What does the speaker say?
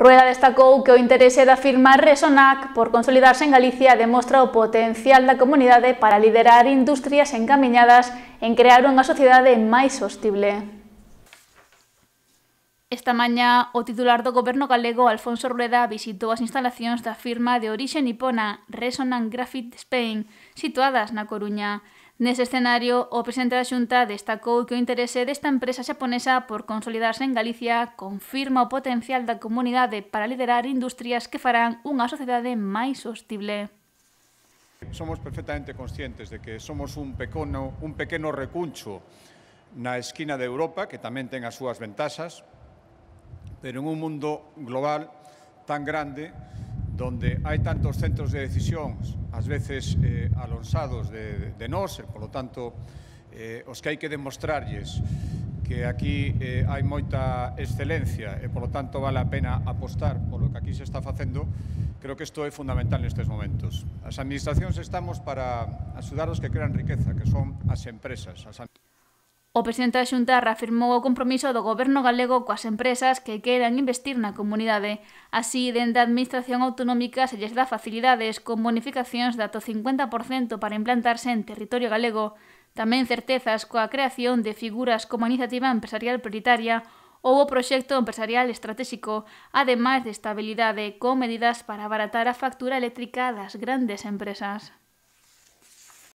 Rueda destacou que o interese da firma Resonac por consolidarse en Galicia demostra o potencial da comunidade para liderar industrias encamiñadas en crear unha sociedade máis sostible. Esta mañá, o titular do Goberno galego, Alfonso Rueda, visitou as instalacións da firma de orixe nipona Resonant Graphite Spain, situadas na Coruña. Nese escenario, o presidente da Xunta destacou que o interese desta empresa xaponesa por consolidarse en Galicia confirma o potencial da comunidade para liderar industrias que farán unha sociedade máis sostible. Somos perfectamente conscientes de que somos un pequeno recuncho na esquina de Europa, que tamén ten as súas ventaxas, pero en un mundo global tan grande, donde hai tantos centros de decisión, ás veces alonsados de nós, e, polo tanto, os que hai que demostrarlles que aquí hai moita excelencia e, polo tanto, vale a pena apostar polo que aquí se está facendo, creo que isto é fundamental nestes momentos. As administracións estamos para axudar os que crean riqueza, que son as empresas. O presidente da Xunta reafirmou o compromiso do Goberno galego coas empresas que queiran investir na comunidade. Así, dende a Administración Autonómica se lles dá facilidades con bonificacións de ata o 50% para implantarse en territorio galego. Tamén certezas coa creación de figuras como a Iniciativa Empresarial Prioritaria ou o Proxecto Empresarial Estratéxico, ademais de estabilidade con medidas para abaratar a factura eléctrica das grandes empresas.